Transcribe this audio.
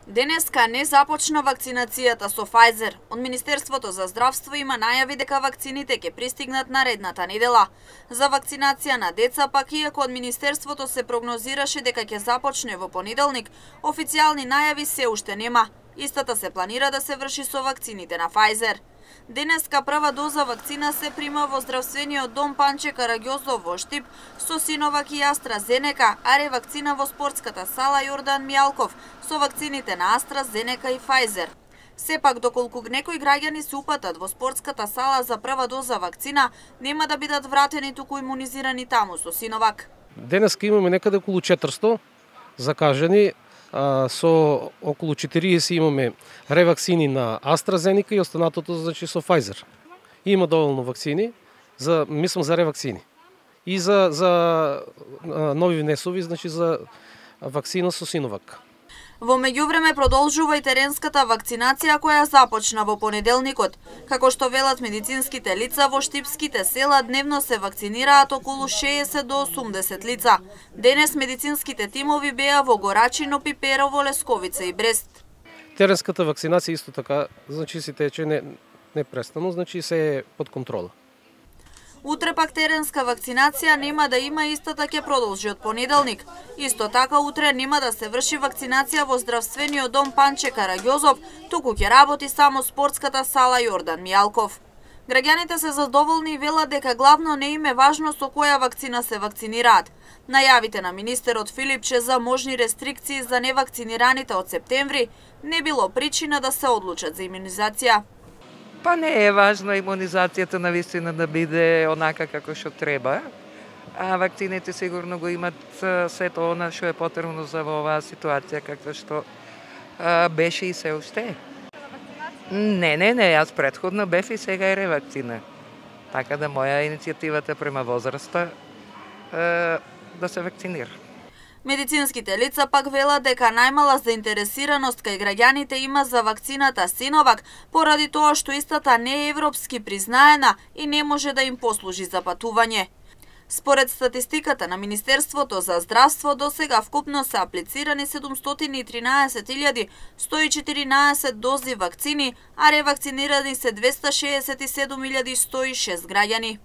Денеска не започна вакцинацијата со Pfizer. Од Министерството за здравство има најави дека вакцините ќе пристигнат наредната недела. За вакцинација на деца пак, иако од Министерството се прогнозираше дека ќе започне во понеделник, официјални најави се уште нема. Истата се планира да се врши со вакцините на Pfizer. Денеска прва доза вакцина се прима во здравствениот дом Панче Караѓозов во Штип со Синовак и AstraZeneca, а ревакцина во спортската сала Јордан Мијалков со вакцините на AstraZeneca и Pfizer. Сепак, доколку некои граѓани се упатат во спортската сала за прва доза вакцина, нема да бидат вратени, туку имунизирани таму со Синовак. Денеска имаме некаде околу 400 закажани, со околу 40 имаме ревакцини на AstraZeneca и останатото значи со Pfizer. Има доволно вакцини за ревакцини. И за нови внесови, значи за вакцина со Синовак. Во меѓувреме продолжува и теренската вакцинација која започна во понеделникот. Како што велат медицинските лица, во штипските села дневно се вакцинираат околу 60 до 80 лица. Денес медицинските тимови беа во Горачино, Пиперово, Лесковица и Брест. Теренската вакцинација исто така, значи се тече непрестано, значи се е под контрола. Утре пак теренска вакцинација нема да има, истата ќе продолжи од понеделник. Исто така утре нема да се врши вакцинација во здравствениот дом Панче Караѓозов, туку ќе работи само спортската сала Јордан Мијалков. Граѓаните се задоволни и велат дека главно не им е важно со која вакцина се вакцинираат. Најавите на министерот Филипче за можни рестрикции за невакцинираните од септември не било причина да се одлучат за имунизација. Па не е важно имунизацијата навистина да биде онака како што треба, а вакцините сигурно го имат сето она што е потребно за оваа ситуација каква што беше и се уште. Не, јас претходно бев и сега е ревакцина. Така да моја иницијативата према возраста да се вакцинира. Медицинските лица пак велат дека најмала заинтересираност кај граѓаните има за вакцината Синовак, поради тоа што истата не е европски признаена и не може да им послужи за патување. Според статистиката на Министерството за здравство, досега вкупно се аплицирани 713.114 дози вакцини, а ревакцинирани се 267.106 граѓани.